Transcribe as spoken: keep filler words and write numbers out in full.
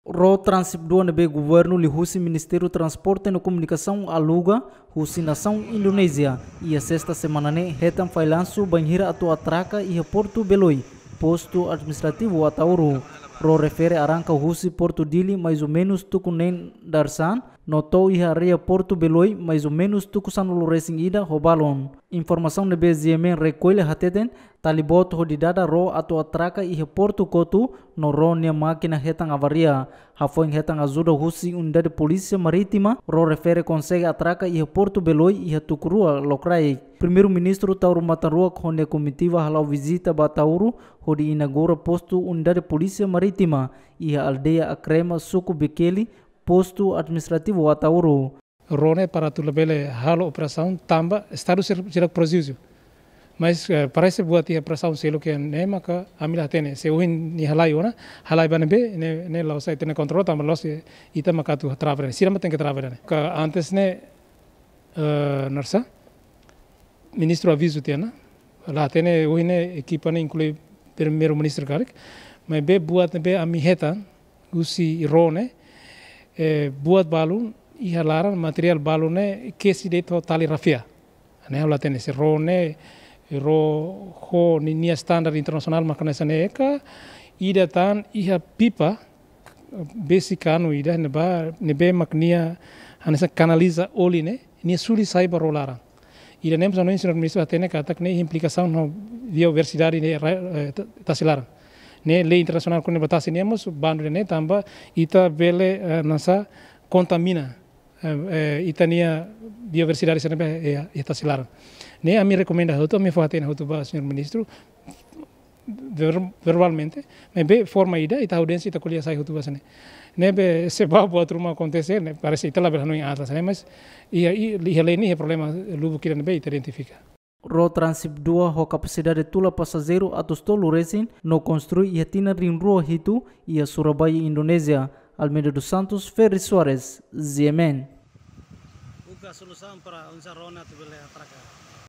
Ró Transip dua ne'ebé governu liuhusi Ministériu Transporte no Komunikasaun aluga husi nasaun Indonézia, iha sesta semana ne'e hetan failansu bainhira atu atraka iha Portu Beloi, postu administrativu Ataúro. Ró refere arranka husi Portu Dili mais ou menus tuku neen dadeer-saan, no to'o iha área Portu Beloi mais ou menus tuku sanulu-resin-ida ho balun. Informasaun ne'ebé G M N rekolla hateten, tali boot hodi dada ró atu atraka iha Portu Kotu, no ró nia mákina hetan avaria. Hafoin hetan ajuda husi Unidade Polísia Marítima, ró refere konsege atraka iha Portu Beloi iha tuku rua lokraik. Primeiru-Ministru Taur Matan Ruak ho nia komitiva hala'o vizita ba Ataúro, hodi inaugura postu Unidade Polísia Marítima iha aldeia Akrema, suku Bekeli, postu administrativu Ataúro. Ró ne'e para atu labele halo operasaun tanba Estadu sira, sira prejudísiu. Mas, eh, parese buat iha operasaun seluk ne'e maka ami la hatene. Se ohin nia halai ona, halai ba ne'ebé, ne'e, ne'e la'ós ita-nia kontrolu, tanba la'ós ita maka atu trava ne'e. Sira mak tenke trava ne'e. Ka antes ne'e, eh, naran sá, Ministru avizu tiha ona, la hatene ohin ne'e ekipa ne'e inklui Primeiru-Ministru karik, maibé buat ne'ebé ami hetan husi ró ne'e, eh, buat balun iha laran, materiál balun ne'e kesi de'it ho tali rafia. Ne'e ha'u la hatene se ró ne'e, ró ho ninia standar internasionál mak hanesan ne'e ka, ida tan iha pipa, besi kanu ida ne'ebá, ne'ebé mak nia hanesan kanaliza oli ne'e, nia suli sai ba ró laran. Ida-ne'e mós hanoin señór Ministru hatene katak ne'e implikasaun ho biodiversidade ne'e ra-, eh, ta-, tasi laran. Ne'e lei internasionál kona-ba tasi ne'e mós bandu ne'e tanba ita bele, eh, naran sá, kontamina, eh, eh, ita-nia biodiversidade sira ne'ebé, eh, eh, tasi laran. Ne'e ami rekomenda hotu, ami fó hatene hotu ba señór Ministru, ver-, verbalmente, maibé forma ida, ita audiénsia, ita ko'alia sai hotu ba hanesan ne'e. Ne'ebé se ba buat ruma akontese, ne'e parese ita labele hanoin atas, ne'e, mas iha, i-, iha lei ne'e iha problema lubuk ida ne'ebé ita identifika. Ró Transip dua ho kapasidade tula pasajeiru atus tolu-resin no konstrui iha tinan rihun rua hitu iha Surabaya, Indonézia. Almeida dos Santos, Ferry Soares, G M N. Buka solusaun para oinsá ró ne'e atu bele atraka.